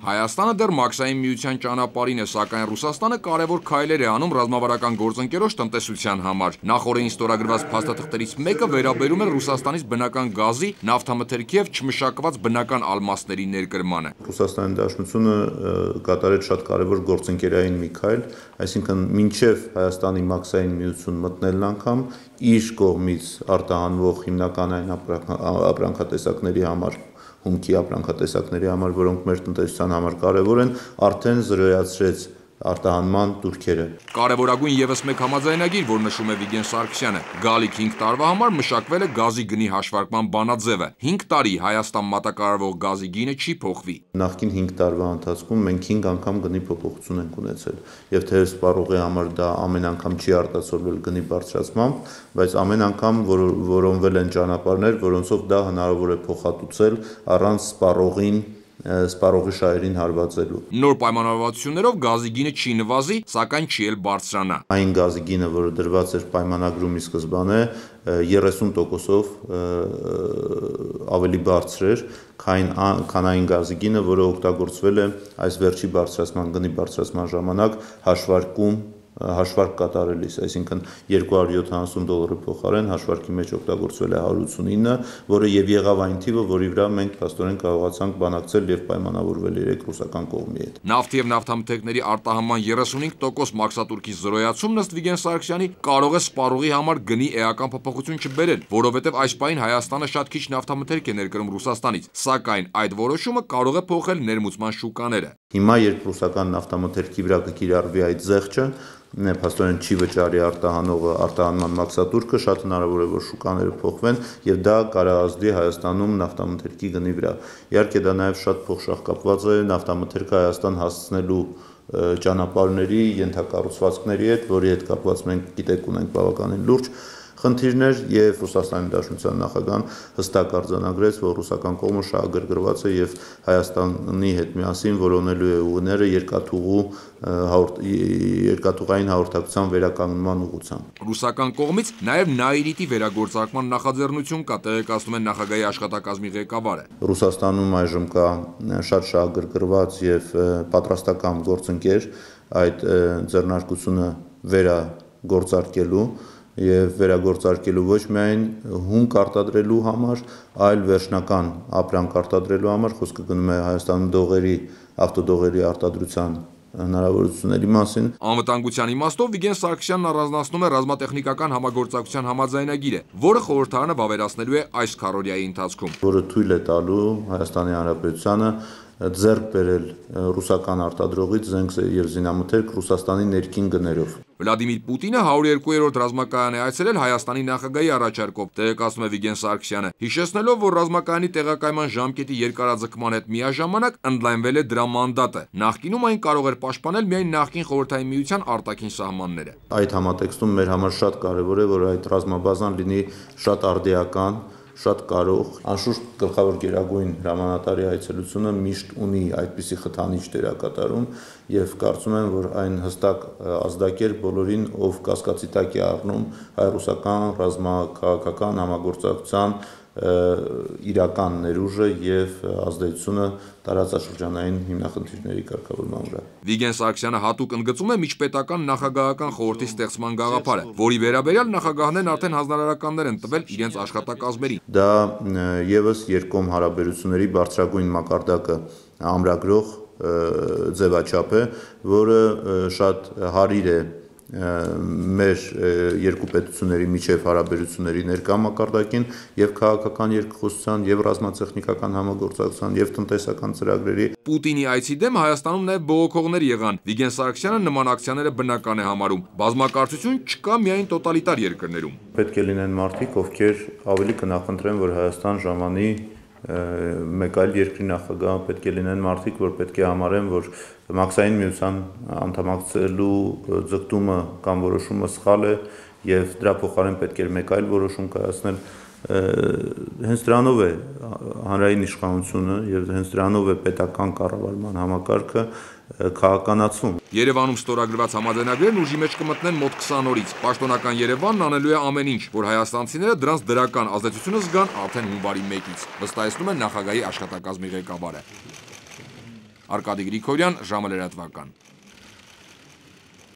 Հայաստանը դեռ մաքսային միության ճանապարհին է, սակայն Ռուսաստանը կարևոր քայլեր է անում ռազմավարական գործընկերոջ տնտեսության համար։ Նախորդին ստորագրված փաստաթղթերից մեկը վերաբերում է Ռուսաստանից բնական գազի, նավթամթերքի և չմշակված բնական ալմաստների ներկրմանը։ Ռուսաստանի Դաշնությունը կատարեց շատ կարևոր գործընկերային մի քայլ, այսինքն մինչև Հայաստանի մաքսային միություն մտնելն անգամ իր կողմից արտահանվող հիմնական ապրանքատեսակների համար հումքի ապրանքատեսակների համար, որոնք մեր տնտեսության համար կարևոր են, արդեն զրոյացրեց արտահանման տուրքերը։ Կարևորագույն ևս մեկ համաձայնագիր, որ նշում է Վիգեն Սարգսյանը, գալիք 5 տարվա համար մշակվել է գազի գնի հաշվարկման բանաձևը։ 5 տարի Հայաստան մատակարարվող գազի գինը չի փոխվի։ Նախկին 5 տարվա ընթացքում մենք 5 անգամ գնի փոփոխություն ենք ունեցել, եւ թեև սպառողի համար դա ամեն անգամ չի արտացոլվել գնի բարձրացմամբ, բայց ամեն անգամ որոնվել են ճանապարհներ, որոնցով դա հնարավոր է փոխհատուցել առանց սպառողի շահերին հարվածելու։ Նոր պայմանավորվածություններով գազի գինը չի նվազի, սակայն չի էլ բարձրանա։ Այն գազի գինը, որը դրված էր պայմանագրումի սկզբանե, 30%-ով ավելի բարձր էր, քան այն գազի գինը, որը օգտագործվել է այս վերջի գնի բարձրացման ժամանակ հաշվարկ կատարելիս, այսինքն $270 փոխարեն հաշվարկի մեջ օգտագործվել է 189, որը եւ եղավ այն թիվը, որի վրա մենք փաստորեն կարողացանք բանակցել եւ պայմանավորվել երեք ռուսական կողմի հետ։ Նավթի եւ նավթամթերքների արտահանման 35% մաքսատուրքի զրոյացումն ըստ Վիգեն Սարգսյանի կարող է սպառողի համար գնի էական փոփոխություն չբերել, որովհետեւ այս պահին Հայաստանը շատ քիչ նավթամթերք է ներկրում Ռուսաստանից, սակայն այդ որոշումը կարող է փոխել ներմուծման շուկաները։ Հիմա երբ ռուսական նավթամթերքի վրա կկիրառվի այդ զեղչը, փաստորեն չի վճարի արտահանման մաքսատուրքը, շատ հնարավոր է, որ շուկաները փոխվեն եւ դա կարազդի Հայաստանում նավթամթերքի գնի վրա։ Իհարկե դա նաեւ շատ փոխշահկապված է նավթամթերքը Հայաստան հասցնելու ճանապարհների, ենթակառուցվածքների հետ, որի հետ կապված մենք գիտեք ունենք բավականին լուրջ խնդիրներ եւ Ռուսաստանի Դաշնության նախագահան հստակ արձանագրեց, որ ռուսական կողմը շահագրգռված է եւ Հայաստանի հետ միասին որոնելու է ուղիները երկաթուղային հաղորդակցության վերականգնման ուղղությամբ։ Ռուսական կողմից նաեւ Նաիրիտի վերագործարկման նախաձեռնություն կա, տեղեկացնում են նախագահի աշխատակազմի ղեկավարը։ Ռուսաստանում այժմ կա շատ շահագրգռված եւ պատրաստական գործընկեր այդ ձեռնարկությունը վերագործարկելու եւ վերագործարկելու ոչ միայն հումք արտադրելու համար, այլ վերջնական ապրանք արտադրելու համար, խոսքը գնում է Հայաստանում ավտոդողերի արտադրության հնարավորությունների մասին։ Անվտանգության իմաստով Վիգեն Սարգսյանն առանձնացնում է ռազմատեխնիկական համագործակցության համաձայնագիրը, որը խորհրդարանը վավերացնելու է այս քառօրյայի ընթացքում, որը թույլ է տալու Հայաստանի Հանրապետությանը ձեռք բերել ռուսական արտադրողից զենք եւ զինամթերք Ռուսաստանի ներքին գներով։ Վլադիմիր Պուտինը 102-րդ ռազմակայան է այցելել Հայաստանի նախագահի առաջարկով, տեղեկացնում է Վիգեն Սարգսյանը, հիշեցնելով, որ ռազմակայանի տեղակայման ժամկետի երկարաձգման հետ միաժամանակ ընդլայնվել է դրա մանդատը։ Նախկինում այն կարող էր պաշտպանել միայն նախկին Խորհրդային Միության արտաքին սահմանները։ Այդ համատեքստում մեր համար շատ կարևոր է, որ այդ ռազմաբազան լինի շատ արդիական, շատ կարող, անշուշտ գլխավոր գերագույն հրամանատարի այցելությունը միշտ ունի այդպիսի խթանիչ դերակատարում եւ կարծում եմ, որ այն հստակ ազդակեր բոլորին, ով կասկածի տակ է առնում հայ-ռուսական ռազմաքաղաքական համագործակցության իրական ներուժը եւ ազդեցությունը տարածաշրջանային հիմնախնդիրների կարգավորման վրա։ Վիգեն Սարգսյանը հատուկ ընդգծում է միջպետական նախագահական խորհրդի ստեղծման գաղափարը, որի վերաբերյալ նախագահներն արդեն հանձնարարականներ են տվել իրենց աշխատակազմերին։ Դա եւս երկկողմ հարաբերությունների բարձրագույն մակարդակը ամրագրող ձևաչափ է, որը շատ հարիր է մեր երկու պետությունների միջև հարաբերությունների ներկա մակարդակին եւ քաղաքական երկխոսության եւ ռազմատեխնիկական համագործակցության եւ տնտեսական ծրագրերի։ Պուտինի այցի դեմ Հայաստանում նաեւ բողոքողներ եղան։ Վիգեն Սարգսյանը նման ակցիաները բնական է համարում։ Բազմակարծություն չկա միայն տոտալիտար երկրներում։ Պետք է լինեն մարդիկ, ովքեր ավելի կնախընտրեն, որ Հայաստան ժամանի մեկ այլ երկրի նախագահ, պետք է լինեն մարդիկ, որ պետք է համարեն, որ մաքսային միության անդամակցելու ձգտումը կամ որոշումը սխալ է եւ դրա փոխարեն պետք է մեկ այլ որոշում կայացնել։ Հենց դրանով է հանրային իշխանությունը եւ հենց դրանով է պետական կառավարման համակարգը քաղաքականացվում։ Երևանում ստորագրված համաձայնագրերն ուժի մեջ կմտնեն մոտ 20 օրից։ Պաշտոնական Երևանն անելու է ամեն ինչ, որ հայաստանցիները դրանց դրական ազդեցությունը զգան արդեն հունվարի 1-ից, վստահեցնում է նախագահի աշխատակազմի ղեկավարը։ Արկադի Գրիգորյան, ժամը լրատվական։